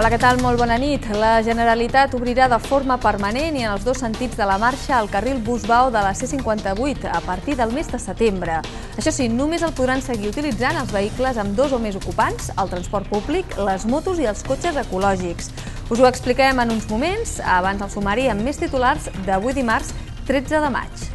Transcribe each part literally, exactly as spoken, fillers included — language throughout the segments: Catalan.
Hola, què tal? Molt bona nit. La Generalitat obrirà de forma permanent i en els dos sentits de la marxa el carril Bus-Vao de la C cinquanta-vuit a partir del mes de setembre. Això sí, només el podran seguir utilitzant els vehicles amb dos o més ocupants, el transport públic, les motos i els cotxes ecològics. Us ho expliquem en uns moments, abans el sumari amb més titulars d'avui dimarts tretze de maig.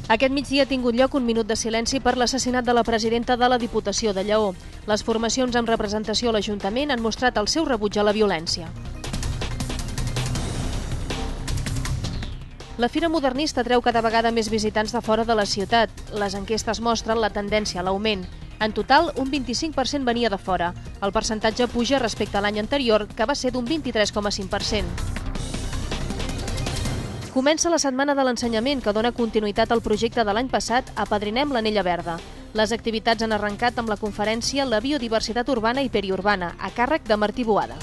Aquest migdia ha tingut lloc un minut de silenci per l'assassinat de la presidenta de la Diputació de Lleó. Les formacions amb representació a l'Ajuntament han mostrat el seu rebuig a la violència. La Fira Modernista treu cada vegada més visitants de fora de la ciutat. Les enquestes mostren la tendència a l'augment. En total, un vint-i-cinc per cent venia de fora. El percentatge puja respecte a l'any anterior, que va ser d'un vint-i-tres coma cinc per cent. Comença la Setmana de l'Ensenyament, que dona continuïtat al projecte de l'any passat Apadrinem l'Anella Verda. Les activitats han arrencat amb la conferència La biodiversitat urbana i periurbana, a càrrec de Martí Boada.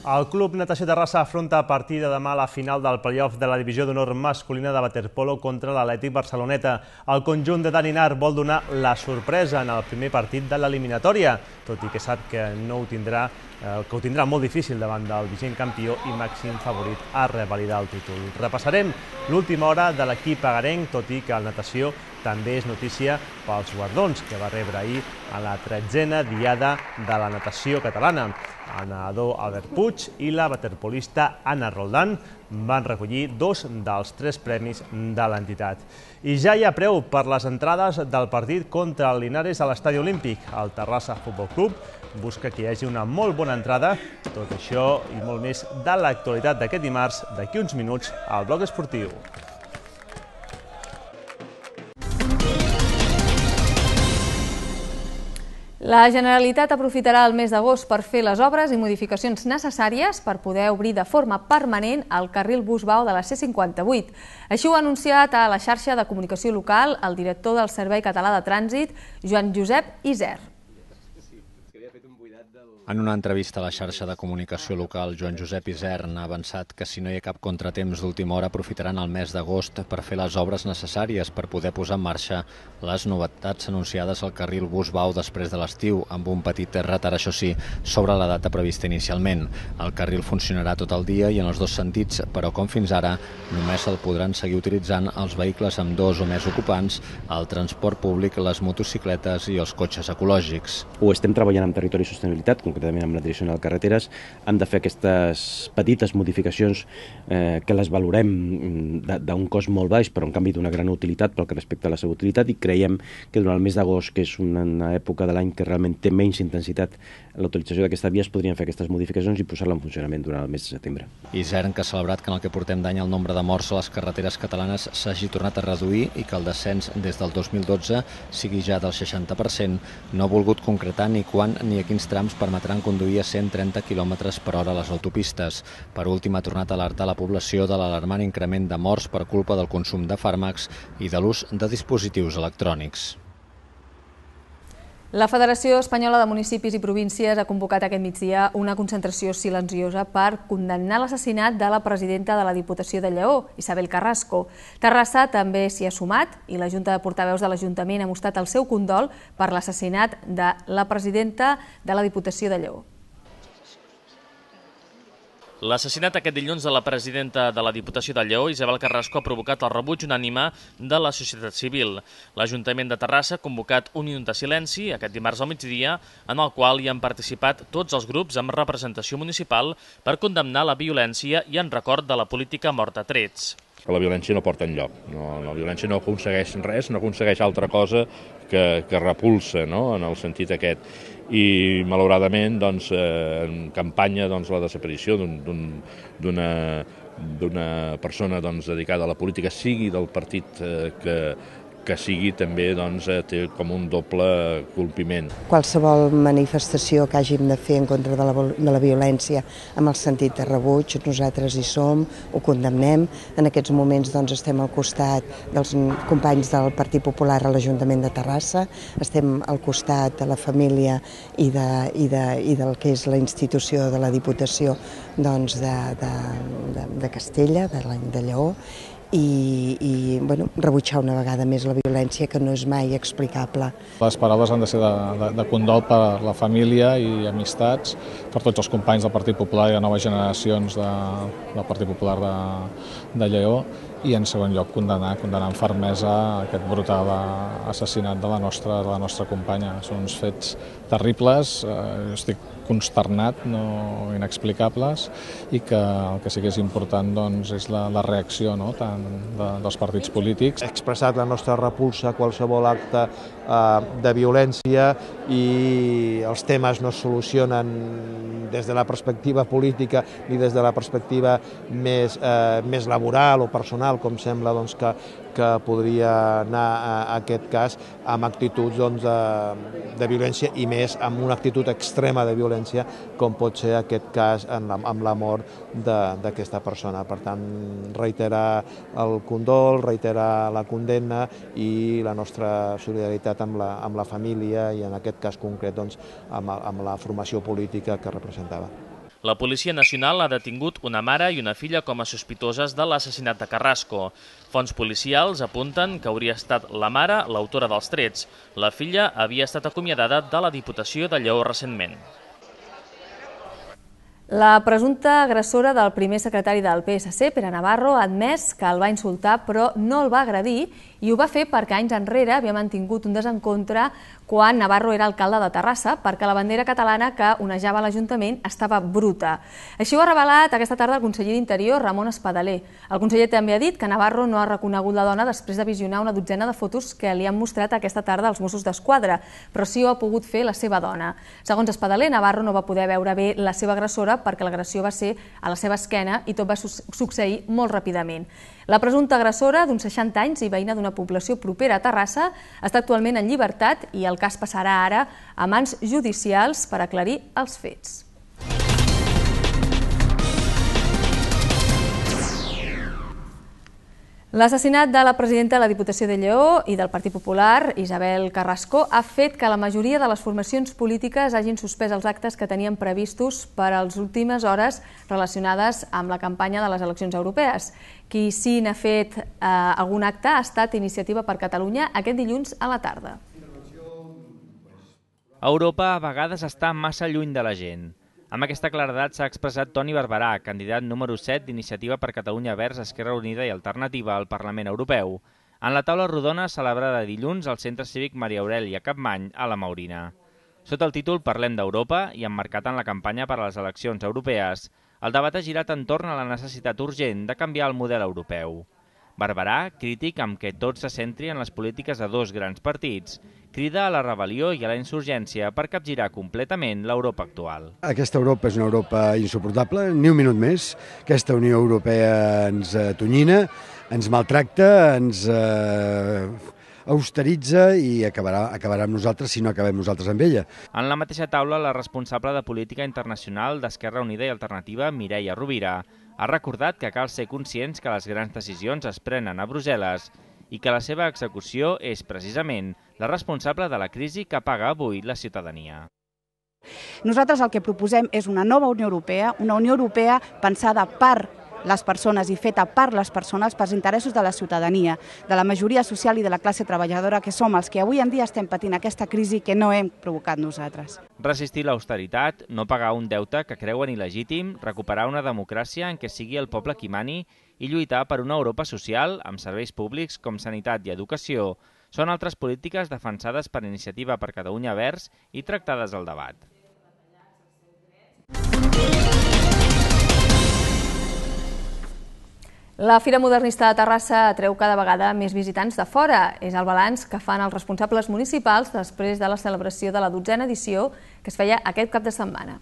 El Club Natació Terrassa afronta a partir de demà la final del play-off de la divisió d'honor masculina de waterpolo contra l'Atlètic Barceloneta. El conjunt de Dani Nar vol donar la sorpresa en el primer partit de l'eliminatòria, tot i que sap que no ho tindrà, que ho tindrà molt difícil davant del vigent campió i màxim favorit a revalidar el títol. Repassarem l'última hora de l'equip agarenc, tot i que el natació també és notícia pels guardons que va rebre ahir a la tretzena diada de la natació catalana. El nedador Albert Puig i la waterpolista Anna Roldán van recollir dos dels tres premis de l'entitat. I ja hi ha preu per les entrades del partit contra el Linares a l'Estadi Olímpic. El Terrassa Futbol Club busca que hi hagi una molt bona entrada. Tot això i molt més de l'actualitat d'aquest dimarts, d'aquí uns minuts, al Bloc Esportiu. La Generalitat aprofitarà el mes d'agost per fer les obres i modificacions necessàries per poder obrir de forma permanent el carril Bus-Vao de la C cinquanta-vuit. Així ho ha anunciat a la xarxa de comunicació local el director del Servei Català de Trànsit, Joan Josep Isern. En una entrevista a la xarxa de comunicació local, Joan Josep Isern ha avançat que si no hi ha cap contratemps d'última hora aprofitaran el mes d'agost per fer les obres necessàries per poder posar en marxa les novetats anunciades al carril Bus-Vao després de l'estiu, amb un petit retard, això sí, sobre la data prevista inicialment. El carril funcionarà tot el dia i en els dos sentits, però com fins ara, només el podran seguir utilitzant els vehicles amb dos o més ocupants, el transport públic, les motocicletes i els cotxes ecològics. Ho estem treballant amb Territori i Sostenibilitat, concretament amb la Direcció General de Carreteres. Hem de fer aquestes petites modificacions eh, que les valorem d'un cost molt baix, però en canvi d'una gran utilitat pel que respecta a la seva utilitat, i creiem que durant el mes d'agost, que és una època de l'any que realment té menys intensitat la utilització d'aquesta via, es podrien fer aquestes modificacions i posar-la en funcionament durant el mes de setembre. Isern, que ha celebrat que en el que portem d'any el nombre de morts a les carreteres catalanes s'hagi tornat a reduir i que el descens des del dos mil dotze sigui ja del seixanta per cent, no ha volgut concretar ni quan ni a quins trams permetran conduir a cent trenta quilòmetres per hora a les autopistes. Per últim, ha tornat a alertar la població de l'alarmant increment de morts per culpa del consum de fàrmacs i de l'ús de dispositius electrònics. La Federació Espanyola de Municipis i Províncies ha convocat aquest migdia una concentració silenciosa per condemnar l'assassinat de la presidenta de la Diputació de Lleó, Isabel Carrasco. Terrassa també s'hi ha sumat i la Junta de Portaveus de l'Ajuntament ha mostrat el seu condol per l'assassinat de la presidenta de la Diputació de Lleó. L'assassinat aquest dilluns de la presidenta de la Diputació de Lleó, Isabel Carrasco, ha provocat el rebuig unànime de la societat civil. L'Ajuntament de Terrassa ha convocat un minut de silenci aquest dimarts al migdia, en el qual hi han participat tots els grups amb representació municipal per condemnar la violència i en record de la política morta a trets. La violència no porta enlloc, no, la violència no aconsegueix res, no aconsegueix altra cosa que, que repulsa, no?, en el sentit aquest. I malauradament doncs, eh, en campanya doncs, la desaparició d'una persona doncs, dedicada a la política, sigui del partit eh, que, que sigui, també doncs, té com un doble colpiment. Qualsevol manifestació que hàgim de fer en contra de la, de la violència amb el sentit de rebuig, nosaltres hi som, ho condemnem. En aquests moments doncs, estem al costat dels companys del Partit Popular a l'Ajuntament de Terrassa, estem al costat de la família i, de, i, de, i del que és la institució de la Diputació doncs, de, de, de, de Castella, de, de Lleó, i, i bueno, rebutjar una vegada més la violència, que no és mai explicable. Les paraules han de ser de, de, de condol per la família i amistats, per tots els companys del Partit Popular i de noves generacions de, del Partit Popular de, de Lleó, i en segon lloc condenar, condenar amb fermesa aquest brutal assassinat de la nostra, de la nostra companya. Són uns fets terribles, eh, estic consternat, no inexplicables, i que el que sí que és important doncs, és la, la reacció, no? Tant de, dels partits polítics. He expressat la nostra repulsa a qualsevol acte eh, de violència, i els temes no es solucionen des de la perspectiva política ni des de la perspectiva més, eh, més laboral o personal, com sembla doncs, que, que podria anar a, a aquest cas, amb actituds doncs, de, de violència, i més amb una actitud extrema de violència, com pot ser aquest cas amb la, amb la mort d'aquesta persona. Per tant, reiterar el condol, reiterar la condemna i la nostra solidaritat amb la, amb la família i, en aquest cas concret, doncs, amb, amb la formació política que representava. La Policia Nacional ha detingut una mare i una filla com a sospitoses de l'assassinat de Carrasco. Fonts policials apunten que hauria estat la mare l'autora dels trets. La filla havia estat acomiadada de la Diputació de Lleó recentment. La presumpta agressora del primer secretari del P S C, Pere Navarro, ha admès que el va insultar però no el va agredir, i ho va fer perquè anys enrere havia mantingut un desencontre quan Navarro era alcalde de Terrassa, perquè la bandera catalana que onejava l'Ajuntament estava bruta. Així ho ha revelat aquesta tarda el conseller d'Interior, Ramon Espadaler. El conseller també ha dit que Navarro no ha reconegut la dona després de visionar una dotzena de fotos que li han mostrat aquesta tarda als Mossos d'Esquadra, però sí ho ha pogut fer la seva dona. Segons Espadaler, Navarro no va poder veure bé la seva agressora perquè l'agressió va ser a la seva esquena i tot va succeir molt ràpidament. La presumpta agressora, d'uns seixanta anys i veïna d'una població propera a Terrassa, està actualment en llibertat i el cas passarà ara a mans judicials per aclarir els fets. L'assassinat de la presidenta de la Diputació de Lleó i del Partit Popular, Isabel Carrasco, ha fet que la majoria de les formacions polítiques hagin suspès els actes que tenien previstos per a les últimes hores relacionades amb la campanya de les eleccions europees. Qui sí n'ha fet eh, algun acte ha estat Iniciativa per Catalunya aquest dilluns a la tarda. Europa a vegades està massa lluny de la gent. Amb aquesta claredat s'ha expressat Toni Barberà, candidat número set d'Iniciativa per Catalunya Verds, Esquerra Unida i Alternativa al Parlament Europeu, en la taula rodona celebrada dilluns al Centre Cívic Maria Aurèlia Capmany a la Maurina. Sota el títol Parlem d'Europa i emmarcat en la campanya per a les eleccions europees, el debat ha girat entorn a la necessitat urgent de canviar el model europeu. Barberà, crític amb què tot se centri en les polítiques de dos grans partits, crida a la rebel·lió i a la insurgència per capgirar completament l'Europa actual. Aquesta Europa és una Europa insuportable, ni un minut més. Aquesta Unió Europea ens atonyina, ens maltracta, ens eh, austeritza i acabarà, acabarà amb nosaltres si no acabem nosaltres amb ella. En la mateixa taula, la responsable de Política Internacional d'Esquerra Unida i Alternativa, Mireia Rovira, ha recordat que cal ser conscients que les grans decisions es prenen a Brussel·les i que la seva execució és precisament la responsable de la crisi que paga avui la ciutadania. Nosaltres el que proposem és una nova Unió Europea, una Unió Europea pensada per les persones i feta per les persones, pels interessos de la ciutadania, de la majoria social i de la classe treballadora, que som els que avui en dia estem patint aquesta crisi que no hem provocat nosaltres. Resistir l'austeritat, no pagar un deute que creuen il·legítim, recuperar una democràcia en què sigui el poble qui mani i lluitar per una Europa social amb serveis públics com sanitat i educació són altres polítiques defensades per Iniciativa per Catalunya Verds i tractades al debat. La Fira Modernista de Terrassa atreu cada vegada més visitants de fora. És el balanç que fan els responsables municipals després de la celebració de la dotzena edició que es feia aquest cap de setmana.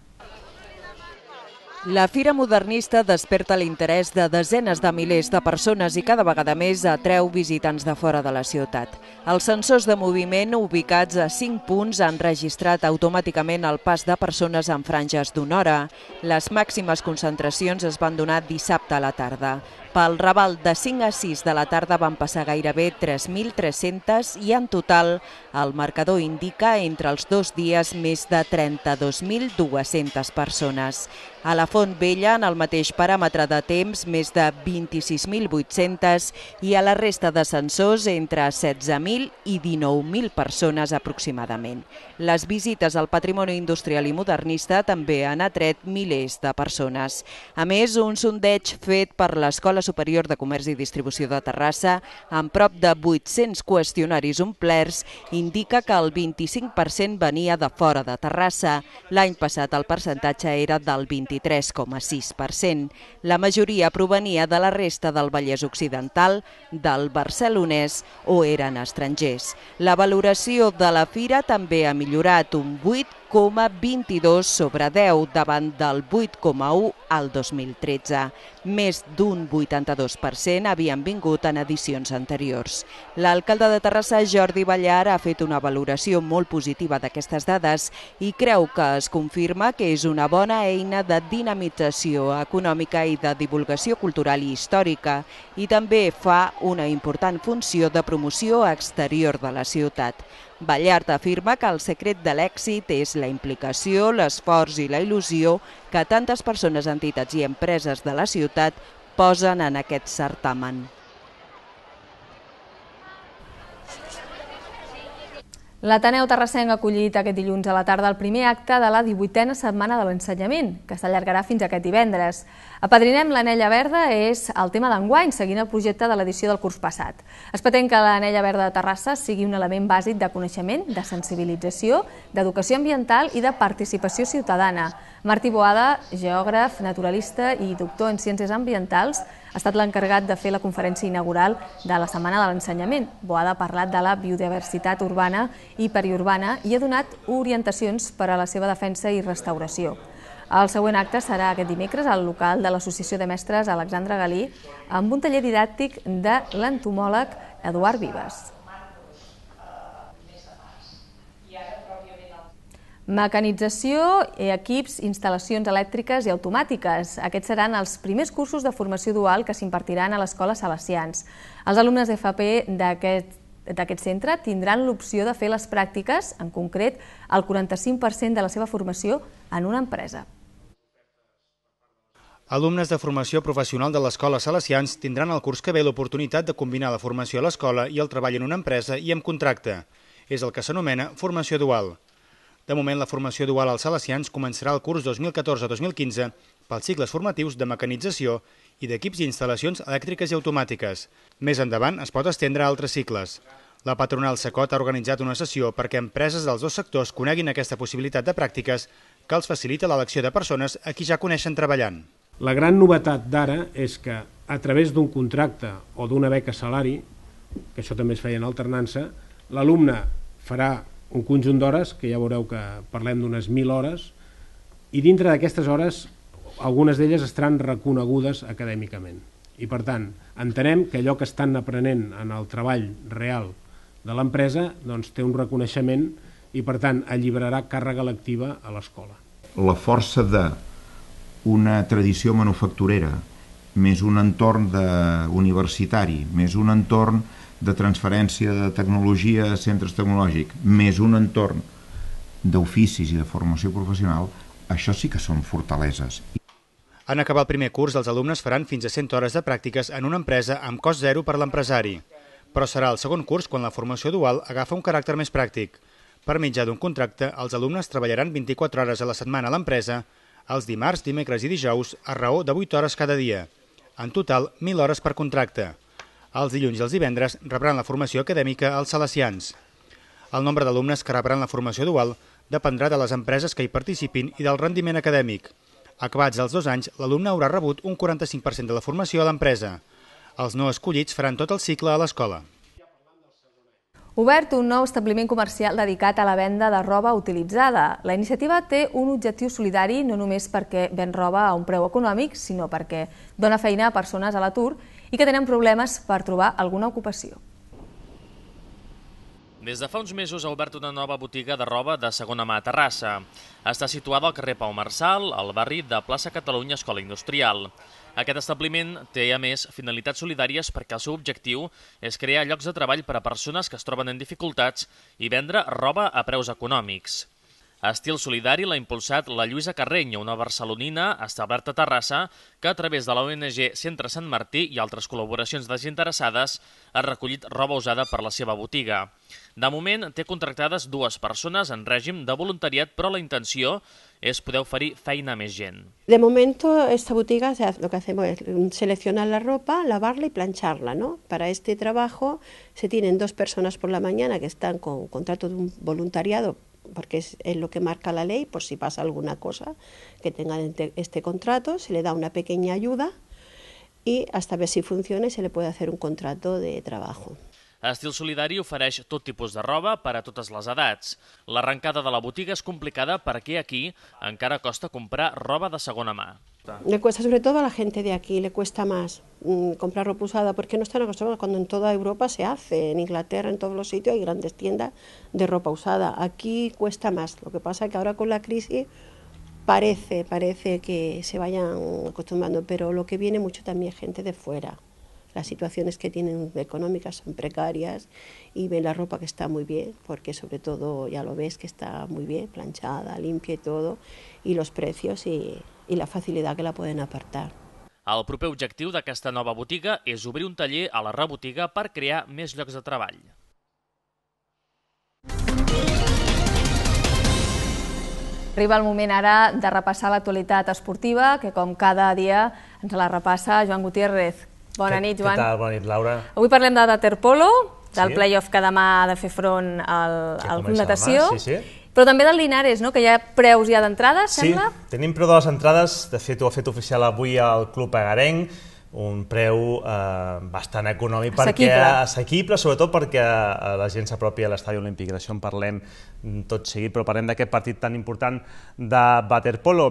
La Fira Modernista desperta l'interès de desenes de milers de persones i cada vegada més atreu visitants de fora de la ciutat. Els sensors de moviment ubicats a cinc punts han registrat automàticament el pas de persones en franges d'una hora. Les màximes concentracions es van donar dissabte a la tarda. Pel Raval de cinc a sis de la tarda van passar gairebé tres mil tres-centes i en total el marcador indica entre els dos dies més de trenta-dos mil dues-centes persones. A la Font Vella, en el mateix paràmetre de temps, més de vint-i-sis mil vuit-centes i a la resta d'ascensors entre setze mil i dinou mil persones aproximadament. Les visites al patrimoni industrial i modernista també han atret milers de persones. A més, un sondeig fet per l'Escola Superior de Comerç i Distribució de Terrassa, amb prop de vuit-cents qüestionaris omplerts, indica que el vint-i-cinc per cent venia de fora de Terrassa. L'any passat el percentatge era del vint-i-tres coma sis per cent. La majoria provenia de la resta del Vallès Occidental, del Barcelonès o eren estrangers. La valoració de la fira també ha millorat un vuit coma vint-i-dos sobre deu davant del vuit coma u al dos mil tretze. Més d'un vuitanta-dos per cent havien vingut en edicions anteriors. L'alcalde de Terrassa, Jordi Ballar, ha fet una valoració molt positiva d'aquestes dades i creu que es confirma que és una bona eina de dinamització econòmica i de divulgació cultural i històrica i també fa una important funció de promoció exterior de la ciutat. Ballart afirma que el secret de l'èxit és la implicació, l'esforç i la il·lusió que tantes persones, entitats i empreses de la ciutat posen en aquest certamen. L'Ateneu Terrassenc ha acollit aquest dilluns a la tarda el primer acte de la divuitena setmana de l'ensenyament, que s'allargarà fins aquest divendres. Apadrinem l'Anella Verda és el tema d'enguany, seguint el projecte de l'edició del curs passat. Es pretén que l'Anella Verda de Terrassa sigui un element bàsic de coneixement, de sensibilització, d'educació ambiental i de participació ciutadana. Martí Boada, geògraf, naturalista i doctor en ciències ambientals, ha estat l'encarregat de fer la conferència inaugural de la Setmana de l'Ensenyament. Boada ha parlat de la biodiversitat urbana i periurbana i ha donat orientacions per a la seva defensa i restauració. El següent acte serà aquest dimecres al local de l'Associació de Mestres Alexandre Galí amb un taller didàctic de l'entomòleg Eduard Vives. Mecanització, equips, instal·lacions elèctriques i automàtiques. Aquests seran els primers cursos de formació dual que s'impartiran a l'Escola Salesians. Els alumnes d'F P d'aquest centre tindran l'opció de fer les pràctiques, en concret, el quaranta-cinc per cent de la seva formació en una empresa. Alumnes de formació professional de l'Escola Salesians tindran el curs que ve l'oportunitat de combinar la formació a l'escola i el treball en una empresa i amb contracte. És el que s'anomena formació dual. De moment, la formació dual als Salesians començarà el curs dos mil catorze dos mil quinze pels cicles formatius de mecanització i d'equips i instal·lacions elèctriques i automàtiques. Més endavant es pot estendre a altres cicles. La patronal Secot ha organitzat una sessió perquè empreses dels dos sectors coneguin aquesta possibilitat de pràctiques que els facilita l'elecció de persones a qui ja coneixen treballant. La gran novetat d'ara és que a través d'un contracte o d'una beca salari, que això també es feia en alternança, l'alumne farà un conjunt d'hores, que ja veureu que parlem d'unes mil hores, i dintre d'aquestes hores algunes d'elles estaran reconegudes acadèmicament. I per tant, entenem que allò que estan aprenent en el treball real de l'empresa doncs, té un reconeixement i per tant alliberarà càrrega lectiva a l'escola. La força d'una tradició manufacturera, més un entorn universitari, més un entorn de transferència de tecnologia a centres tecnològics, més un entorn d'oficis i de formació professional, això sí que són fortaleses. En acabar el primer curs, els alumnes faran fins a cent hores de pràctiques en una empresa amb cost zero per l'empresari. Però serà el segon curs quan la formació dual agafa un caràcter més pràctic. Per mitjà d'un contracte, els alumnes treballaran vint-i-quatre hores a la setmana a l'empresa, els dimarts, dimecres i dijous, a raó de vuit hores cada dia. En total, mil hores per contracte. Els dilluns i els divendres rebran la formació acadèmica als Salesians. El nombre d'alumnes que rebran la formació dual dependrà de les empreses que hi participin i del rendiment acadèmic. Acabats els dos anys, l'alumne haurà rebut un quaranta-cinc per cent de la formació a l'empresa. Els no escollits faran tot el cicle a l'escola. Obert un nou establiment comercial dedicat a la venda de roba utilitzada. La iniciativa té un objectiu solidari no només perquè ven roba a un preu econòmic, sinó perquè dona feina a persones a l'atur i que tenen problemes per trobar alguna ocupació. Des de fa uns mesos ha obert una nova botiga de roba de segona mà a Terrassa. Està situada al carrer Pau Marçal, al barri de Plaça Catalunya Escola Industrial. Aquest establiment té, a més, finalitats solidàries perquè el seu objectiu és crear llocs de treball per a persones que es troben en dificultats i vendre roba a preus econòmics. Estil solidari l'ha impulsat la Lluïsa Carreny, una barcelonina establerta a Terrassa, que a través de la O N G Centre Sant Martí i altres col·laboracions desinteressades ha recollit roba usada per la seva botiga. De moment té contractades dues persones en règim de voluntariat, però la intenció es poder oferir feina a més gent. De momento esta botiga, o sea, lo que hacemos es seleccionar la ropa, lavarla y plancharla, ¿no? Para este trabajo se tienen dos personas por la mañana que están con contrato de un voluntariado, porque es, es lo que marca la ley, por si pasa alguna cosa, que tengan este contrato, se le da una pequeña ayuda y hasta ver si funciona y se le puede hacer un contrato de trabajo. Estil Solidari ofereix tot tipus de roba per a totes les edats. L'arrencada de la botiga és complicada perquè aquí encara costa comprar roba de segona mà. Le cuesta, sobre todo a la gente de aquí, le cuesta más mmm, comprar ropa usada porque no están acostumbrados cuando en toda Europa se hace, en Inglaterra, en todos los sitios hay grandes tiendas de ropa usada. Aquí cuesta más, lo que pasa es que ahora con la crisis parece, parece que se vayan acostumbrando, pero lo que viene mucho también es gente de fuera. Las situaciones que tienen económicas son precarias y ven la ropa que está muy bien, porque sobre todo ya lo ves que está muy bien, planchada, limpia y todo, y los precios y, y la facilidad que la pueden apartar. El proper objectiu d'aquesta nova botiga és obrir un taller a la rebotiga per crear més llocs de treball. Arriba el moment ara de repassar l'actualitat esportiva, que com cada dia ens la repassa Joan Gutiérrez. Bona nit, Joan. Què tal? Bona nit, Laura. Avui parlem de waterpolo, del play-off que demà ha de fer front al Club Natació, però també del Linares, que hi ha preus ja d'entrades, sembla? Sí, tenim preu de les entrades, de fet ho ha fet oficial avui el Club Agarenc, un preu bastant econòmic, assequible, sobretot perquè la gent s'apropi a l'Estadi Olímpic, d'això en parlem tot seguit, però parlem d'aquest partit tan important de waterpolo.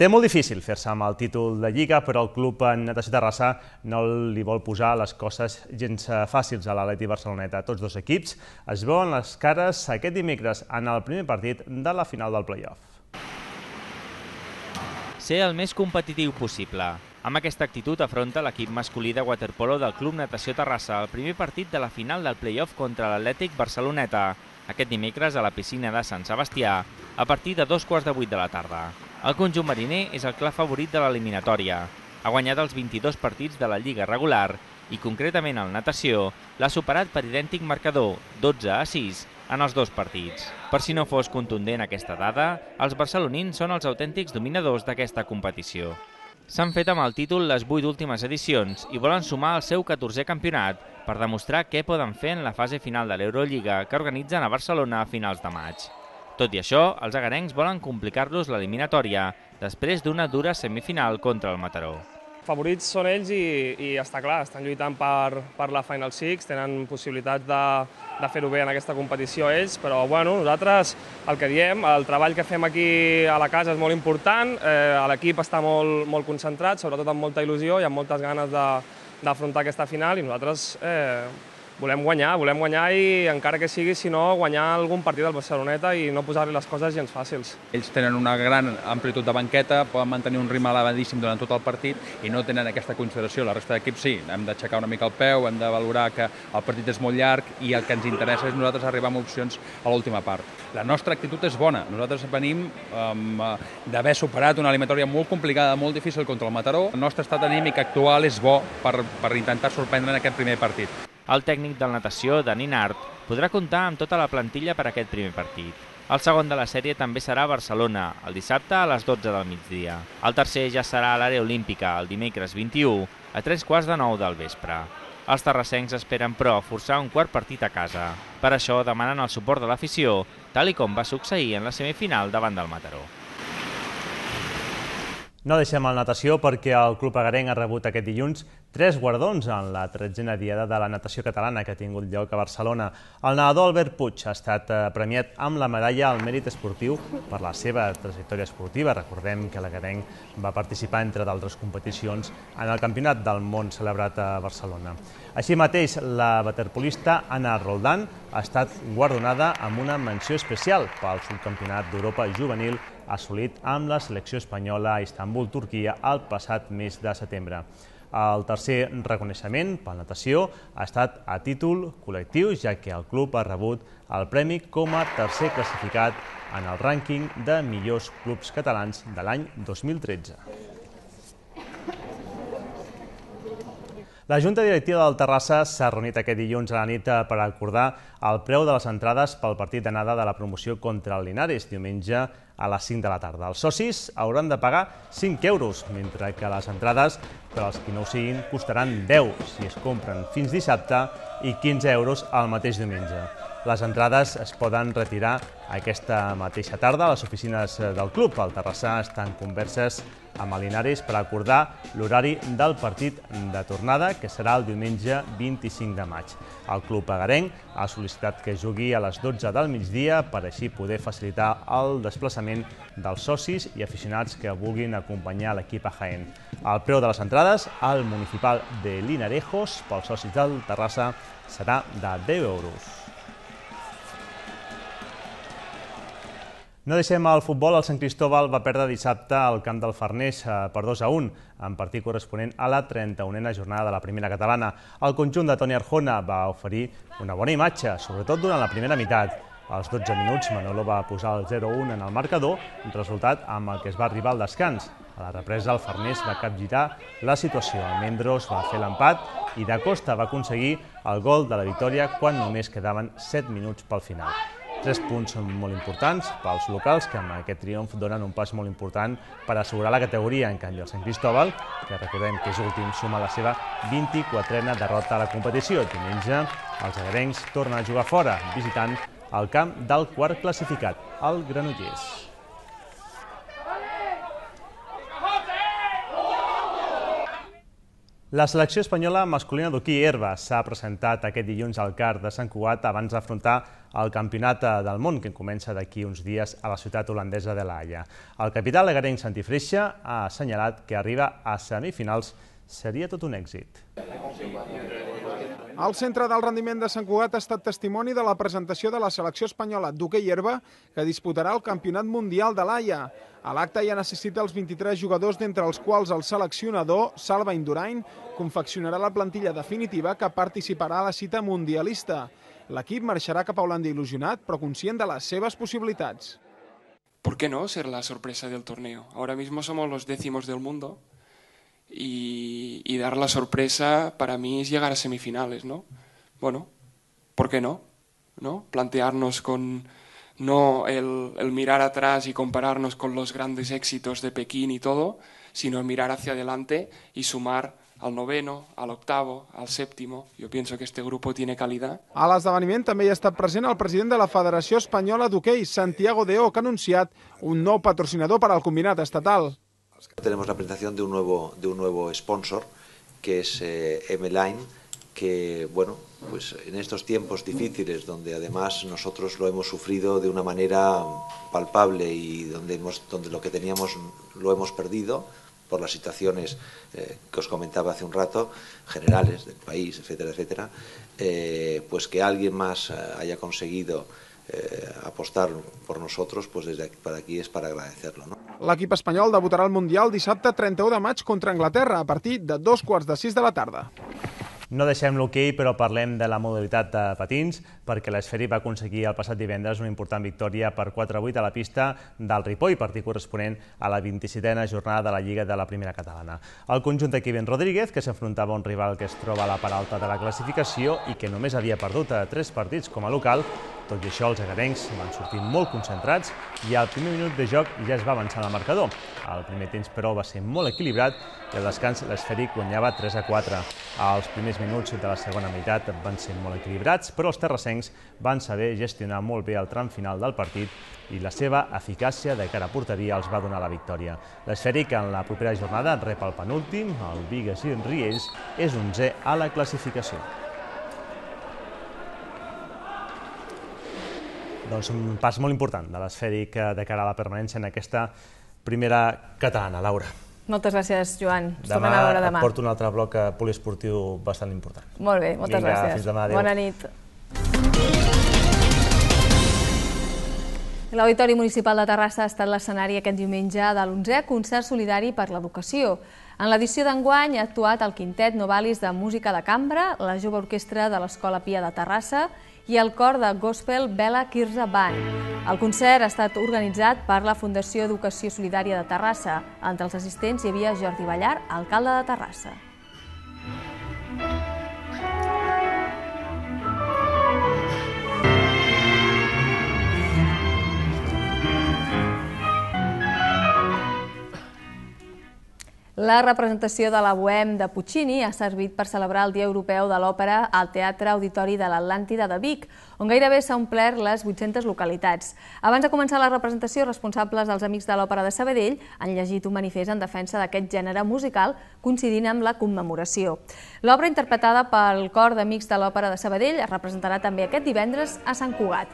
Té molt difícil fer-se amb el títol de Lliga, però el Club Natació Terrassa no li vol posar les coses gens fàcils a l'Atleti Barceloneta. Tots dos equips es veuen les cares aquest dimecres en el primer partit de la final del play-off. Ser el més competitiu possible. Amb aquesta actitud afronta l'equip masculí de waterpolo del Club Natació Terrassa el primer partit de la final del play-off contra l'Atlètic Barceloneta, aquest dimecres a la piscina de Sant Sebastià, a partir de dos quarts de vuit de la tarda. El conjunt mariner és el clar favorit de l'eliminatòria. Ha guanyat els vint-i-dos partits de la Lliga regular i, concretament el Natació, l'ha superat per idèntic marcador, dotze a sis, en els dos partits. Per si no fos contundent aquesta dada, els barcelonins són els autèntics dominadors d'aquesta competició. S'han fet amb el títol les vuit últimes edicions i volen sumar el seu catorzè campionat per demostrar què poden fer en la fase final de l'Eurolliga que organitzen a Barcelona a finals de maig. Tot i això, els agarencs volen complicar-los l'eliminatòria després d'una dura semifinal contra el Mataró. Favorits són ells i, i està clar, estan lluitant per, per la Final Six, tenen possibilitats de, de fer-ho bé en aquesta competició ells, però bueno, nosaltres el que diem, el treball que fem aquí a la casa és molt important, eh, l'equip està molt, molt concentrat, sobretot amb molta il·lusió i amb moltes ganes d'afrontar aquesta final i nosaltres eh, volem guanyar, volem guanyar i encara que sigui, si no, guanyar algun partit del Barceloneta i no posar-li les coses gens fàcils. Ells tenen una gran amplitud de banqueta, poden mantenir un ritme elevadíssim durant tot el partit i no tenen aquesta consideració. La resta d'equips sí, hem d'aixecar una mica el peu, hem de valorar que el partit és molt llarg i el que ens interessa és nosaltres arribar amb opcions a l'última part. La nostra actitud és bona. Nosaltres venim um, d'haver superat una eliminatòria molt complicada, molt difícil contra el Mataró. El nostre estat anímic actual és bo per, per intentar sorprendre en aquest primer partit. El tècnic del Natació, Dani Nart, podrà comptar amb tota la plantilla per a aquest primer partit. El segon de la sèrie també serà a Barcelona, el dissabte a les dotze del migdia. El tercer ja serà a l'àrea olímpica, el dimecres vint-i-u, a tres quarts de nou del vespre. Els terrassencs esperen, però, forçar un quart partit a casa. Per això demanen el suport de l'afició, tal i com va succeir en la semifinal davant del Mataró. No deixem el natació perquè el Club Agarenc ha rebut aquest dilluns tres guardons en la tretzena diada de la natació catalana que ha tingut lloc a Barcelona. El nedador Albert Puig ha estat premiat amb la medalla al mèrit esportiu per la seva trajectòria esportiva. Recordem que l'Agarenc va participar, entre d'altres competicions, en el Campionat del Món celebrat a Barcelona. Així mateix, la waterpolista Anna Roldán ha estat guardonada amb una menció especial pel subcampionat d'Europa juvenil assolit amb la selecció espanyola a Istanbul, Turquia, el passat mes de setembre. El tercer reconeixement per natació ha estat a títol col·lectiu, ja que el club ha rebut el premi com a tercer classificat en el rànquing de millors clubs catalans de l'any dos mil tretze. La Junta Directiva del Terrassa s'ha reunit aquest dilluns a la nit per acordar el preu de les entrades pel partit d'anada de la promoció contra el Linares, diumenge a les cinc de la tarda. Els socis hauran de pagar cinc euros, mentre que les entrades per als qui no ho siguin costaran deu si es compren fins dissabte i quinze euros el mateix diumenge. Les entrades es poden retirar aquesta mateixa tarda a les oficines del club. El Terrassa està en converses amb el Linares per acordar l'horari del partit de tornada, que serà el diumenge vint-i-cinc de maig. El club agarenc ha sol·licitat que jugui a les dotze del migdia per així poder facilitar el desplaçament dels socis i aficionats que vulguin acompanyar l'equip a Jaén. El preu de les entrades al municipal de Linarejos pels socis del Terrassa serà de deu euros. No deixem el futbol. El Sant Cristóbal va perdre dissabte al camp del Farners per dos a un, en partit corresponent a la trenta-unena jornada de la primera catalana. El conjunt de Toni Arjona va oferir una bona imatge, sobretot durant la primera meitat. Als dotze minuts, Manolo va posar el zero a un en el marcador, resultat amb el que es va arribar al descans. A la represa, el Farners va capgirar la situació. Almendros va fer l'empat i Da Costa va aconseguir el gol de la victòria quan només quedaven set minuts pel final. Tres punts són molt importants pels locals, que amb aquest triomf donen un pas molt important per assegurar la categoria. En canvi, el Sant Cristóbal, que recordem que és últim, suma la seva vint-i-quatrena derrota a la competició. Diumenge, els agarencs tornen a jugar fora, visitant el camp del quart classificat, el Granollers. La selecció espanyola masculina d'hoquei herba s'ha presentat aquest dilluns al C A R de Sant Cugat abans d'afrontar el Campionat del Món, que comença d'aquí uns dies a la ciutat holandesa de La Haia. El capità agarenc Santi Freixa ha assenyalat que arribar a semifinals seria tot un èxit. El Centre del Rendiment de Sant Cugat ha estat testimoni de la presentació de la selecció espanyola d'hoquei herba que disputarà el Campionat Mundial de l'Haia. A l'acte ja necessita els vint-i-tres jugadors, d'entre els quals el seleccionador, Salva Indurain, confeccionarà la plantilla definitiva que participarà a la cita mundialista. L'equip marxarà cap a Holanda il·lusionat, però conscient de les seves possibilitats. ¿Por qué no ser la sorpresa del torneo? Ahora mismo somos los décimos del mundo. Y, y dar la sorpresa para mí es llegar a semifinales, ¿no? Bueno, ¿por qué no? ¿No? Plantearnos con no el, el mirar atrás y compararnos con los grandes éxitos de Pekín y todo, sino mirar hacia adelante y sumar al noveno, al octavo, al séptimo. Yo pienso que este grupo tiene calidad. A l'esdeveniment també hi ha estat present el president de la Federació Espanyola d'Hoquei, Santiago Deó, que ha anunciat un nou patrocinador per al combinat estatal. Tenemos la presentación de un nuevo, de un nuevo sponsor, que es eh, M-Line, que, bueno, pues en estos tiempos difíciles, donde además nosotros lo hemos sufrido de una manera palpable y donde, hemos, donde lo que teníamos lo hemos perdido por las situaciones eh, que os comentaba hace un rato, generales del país, etcétera, etcétera, eh, pues que alguien más eh, haya conseguido Eh, apostar por nosotros, pues desde aquí, para aquí es para agradecerlo, ¿no? L'equip espanyol debutarà al Mundial dissabte trenta-u de maig contra Anglaterra a partir de dos quarts de sis de la tarda. No deixem l'hoquei, però parlem de la modalitat de patins, perquè l'Esfèric va aconseguir el passat divendres una important victòria per quatre a vuit a la pista del Ripoll, partit corresponent a la vint-i-setena jornada de la Lliga de la Primera Catalana. El conjunt de Kevin Rodríguez, que s'enfrontava a un rival que es troba a la part alta de la classificació i que només havia perdut a tres partits com a local, tot i això els agarencs van sortir molt concentrats i al primer minut de joc ja es va avançar el marcador. El primer temps, però, va ser molt equilibrat i al descans l'Esfèric guanyava tres a quatre. Els primers minuts de la segona meitat van ser molt equilibrats, però els terrassencs van saber gestionar molt bé el tram final del partit i la seva eficàcia de cara a porteria els va donar la victòria. L'Esfèric en la propera jornada rep el penúltim, el Bigues i Riells, és onzè a la classificació. Doncs un pas molt important de l'Esfèric de cara a la permanència en aquesta primera catalana. Laura. Moltes gràcies, Joan. Ens Demà tornem a veure demà. et porto un altre bloc poliesportiu bastant important. Molt bé, moltes Vinga, gràcies. fins demà, adéu. Bona nit. L'Auditori Municipal de Terrassa ha estat l'escenari aquest diumenge de l'onzè concert solidari per l'educació. En l'edició d'enguany ha actuat el Quintet Novalis de Música de Cambra, la Jove Orquestra de l'Escola Pia de Terrassa i el cor de Gospel Bela Kirza Band. El concert ha estat organitzat per la Fundació Educació Solidària de Terrassa. Entre els assistents hi havia Jordi Ballar, alcalde de Terrassa. La representació de la Bohème de Puccini ha servit per celebrar el Dia Europeu de l'Òpera al Teatre Auditori de l'Atlàntida de Vic, on gairebé s'ha omplert les vuit-centes localitats. Abans de començar la representació, responsables dels Amics de l'Òpera de Sabadell han llegit un manifest en defensa d'aquest gènere musical, coincidint amb la commemoració. L'obra, interpretada pel cor d'Amics de l'Òpera de Sabadell, es representarà també aquest divendres a Sant Cugat.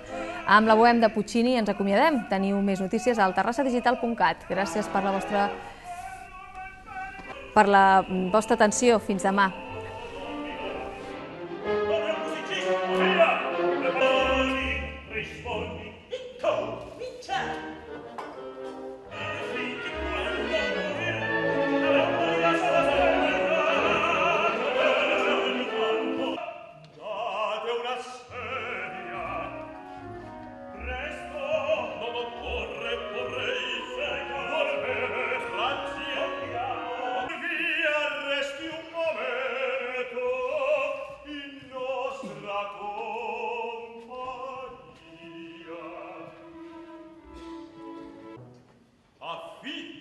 Amb la Bohème de Puccini ens acomiadem. Teniu més notícies al terrassa digital punt cat. Gràcies per la vostra per la vostra atenció. Fins demà. Affitto